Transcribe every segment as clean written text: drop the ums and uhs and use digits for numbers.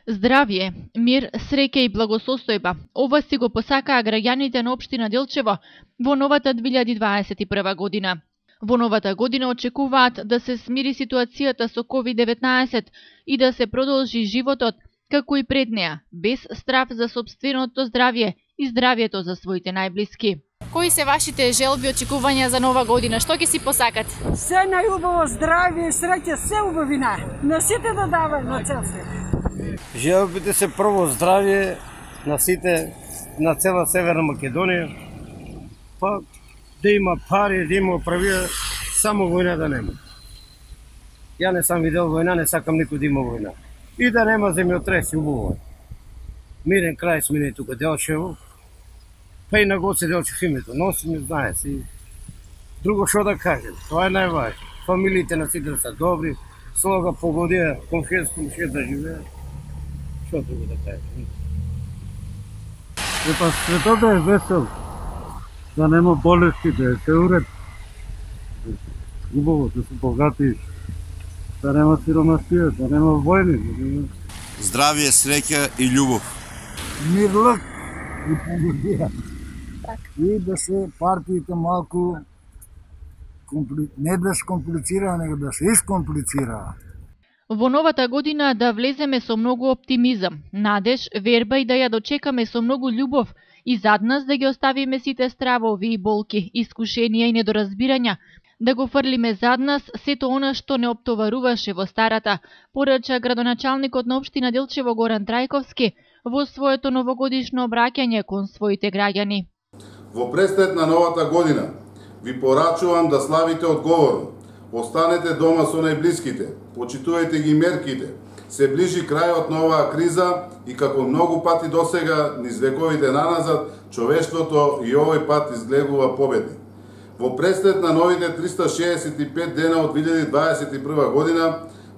Здравје, мир, среќа и благосостојба. Ова си го посакаа граѓаните на општина Делчево во новата 2021 година. Во новата година очекуваат да се смири ситуацијата со COVID-19 и да се продолжи животот, како и пред неа, без страф за сопственото здравје и здравјето за своите најблиски. Кои се вашите желби, очекувања за нова година? Што ќе си посакат? Се најубаво здравје и среќа, се убавина. На сите да дава на цел свет. Желбите се прво здравје на сите, на цела Северна Македонија, па да има пари, да има правија, само војна да нема. Ја не сам видел војна, не сакам никој да има војна. И да нема земјотреси, убаво. Мирен крај смине тука Делчево, па и на Гоце Делчев името носи, не знае си. Друго што да кажем, тоа е најважно. Фамилиите на сите се добри, слога погодија, комшија да живеат. Што друго да кажем? Епа светот е весел, да нема болести, да е се уред. Убаво, да се богати, да нема сиромасија, да нема војни. Здравје, среќа и љубов. Мирлак и погодија. И да се партиите малку не да се комплицира, него да се искомплицира. Во новата година да влеземе со многу оптимизам, надеж, верба и да ја дочекаме со многу љубов и зад нас да ги оставиме сите стравови и болки, искушенија и недоразбирања, да го фрлиме зад нас сето она што не оптоваруваше во старата, порача градоначалникот на општина Делчево Горан Трајковски во своето новогодишно обраќање кон своите граѓани. Во престет на новата година ви порачувам да славите одговорно. Останете дома со најблиските, почитувајте ги мерките. Се ближи крајот на оваа криза и како многу пати досега низ вековите наназад, човештвото и овој пат изгледува победни. Во престет на новите 365 дена од 2021 година,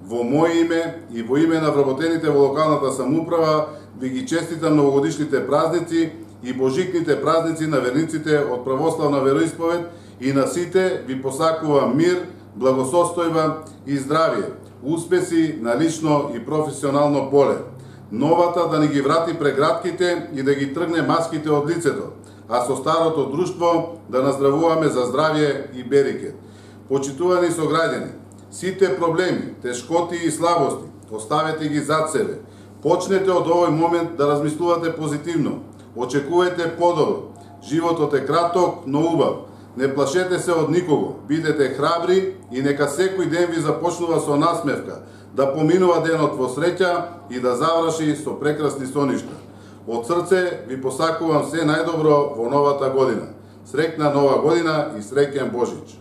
во моје име и во име на вработените во локалната самоуправа, ви ги честитам новогодишните празници и божикните празници на верниците од православна вероисповед и на сите ви посакувам мир, благосостојба и здравје, успеси на лично и професионално поле. Новата да ни ги врати прегратките и да ги тргне маските од лицето, а со старото друштво да наздравуваме за здравје и берекет. Почитувани сограѓани, сите проблеми, тешкоти и слабости, оставете ги зад себе. Почнете од овој момент да размислувате позитивно. Очекувајте подобро. Животот е краток, но убав. Не плашете се од никого. Бидете храбри и нека секој ден ви започнува со насмевка, да поминува денот во среќа и да заврши со прекрасни соништа. Од срце ви посакувам се најдобро во новата година. Среќна нова година и среќен Божич!